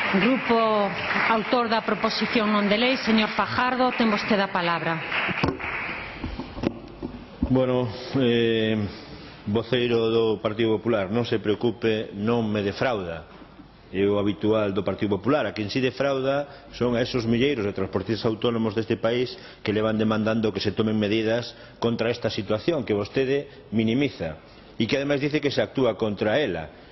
Grupo autor da proposición non de lei, señor Fajardo, ten vostede a palabra. Bueno, voceiro do Partido Popular, non se preocupe, non me defrauda. É o habitual do Partido Popular. A quen si defrauda son a esos milleiros de transportistas autónomos deste país que le van demandando que se tomen medidas contra esta situación que vostede minimiza e que ademais dice que se actúa contra ela.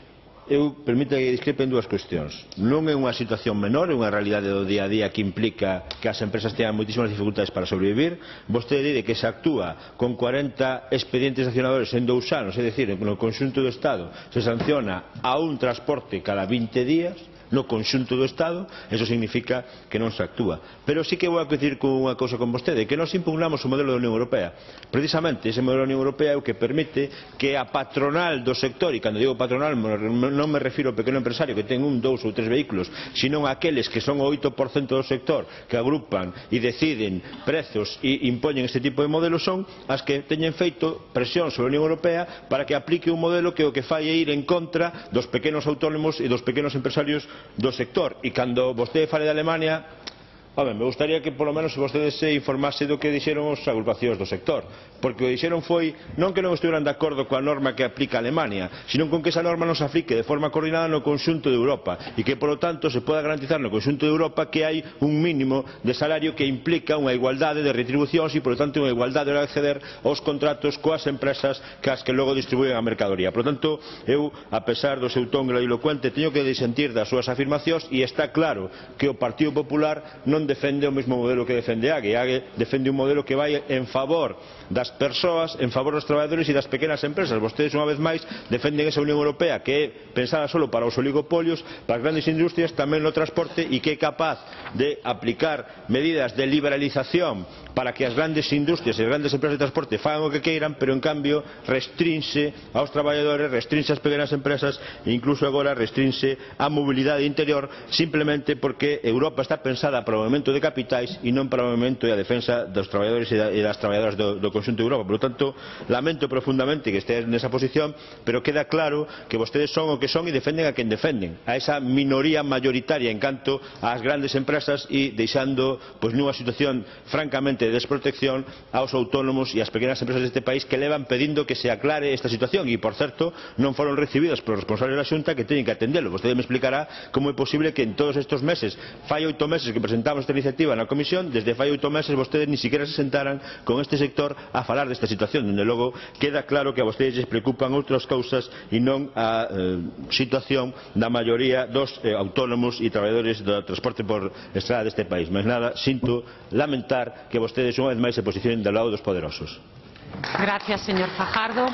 Permita que discrepe en dúas cuestións. Non é unha situación menor, é unha realidade do día a día que implica que as empresas teñan moitísimas dificultades para sobrevivir. Vostede dice que se actúa con 40 expedientes sancionadores en 2 anos, é dicir, no conxunto do Estado se sanciona a un transporte cada 20 días no conxunto do Estado. Eso significa que non se actúa. Pero sí que vou a coincidir con unha cousa con vostede, que nós impugnamos o modelo da Unión Europea. Precisamente ese modelo da Unión Europea é o que permite que a patronal do sector, e cando digo patronal non me refiro ao pequeno empresario que ten 1, 2 ou 3 vehículos, sino aqueles que son o 8% do sector, que agrupan e deciden prezos e impoñen este tipo de modelos, son as que teñen feito presión sobre a Unión Europea para que aplique un modelo que o que fai é ir en contra dos pequenos autónomos e dos pequenos empresarios do sector. E cando vostede fale de Alemania, me gustaría que polo menos vostede se informase do que dixeron as agrupacións do sector, porque o que dixeron foi non que non estuveran de acordo coa norma que aplica Alemania, sino con que esa norma non se aplique de forma coordinada no conxunto de Europa e que polo tanto se poda garantizar no conxunto de Europa que hai un mínimo de salario que implica unha igualdade de retribucións e polo tanto unha igualdade de acceder aos contratos coas empresas que logo distribúen a mercadoría. Por tanto, eu, a pesar do seu ton grandilocuente, teño que disentir das súas afirmacións e está claro que o Partido Popular non defende o mesmo modelo que defende AGE. AGE defende un modelo que vai en favor das persoas, en favor dos traballadores e das pequenas empresas. Vostedes, unha vez máis, defenden esa Unión Europea que é pensada solo para os oligopolios, para as grandes industrias, tamén no transporte, e que é capaz de aplicar medidas de liberalización para que as grandes industrias e as grandes empresas de transporte fagan o que queiran, pero en cambio restrinxe aos traballadores, restrinxe ás pequenas empresas e incluso agora restrinxe a mobilidade interior, simplemente porque Europa está pensada para o movimento de capitais e non para o movimento e a defensa dos traballadores e das traballadoras do conxunto de Europa. Por lo tanto, lamento profundamente que estea nesa posición, pero queda claro que vostedes son o que son e defenden a quen defenden, a esa minoría mayoritaria en canto ás grandes empresas, e deixando nunha situación francamente de desprotección aos autónomos e ás pequenas empresas deste país que levan pedindo que se aclare esta situación e, por certo, non foron recibidas polos responsables da Xunta, que teñen que atendelo. Vostede me explicará como é posible que en todos estes meses, fai 8 meses que presentamos esta iniciativa na Comisión, desde fai 8 meses vostedes ni siquiera se sentaran con este sector a falar desta situación. Dende logo, queda claro que a vostedes les preocupan outras cousas e non a situación da maioría dos autónomos e traballadores do transporte por estrada deste país. Mas nada, sinto lamentar que vostedes unha vez máis se posicionen do lado dos poderosos. Gracias, señor Fajardo.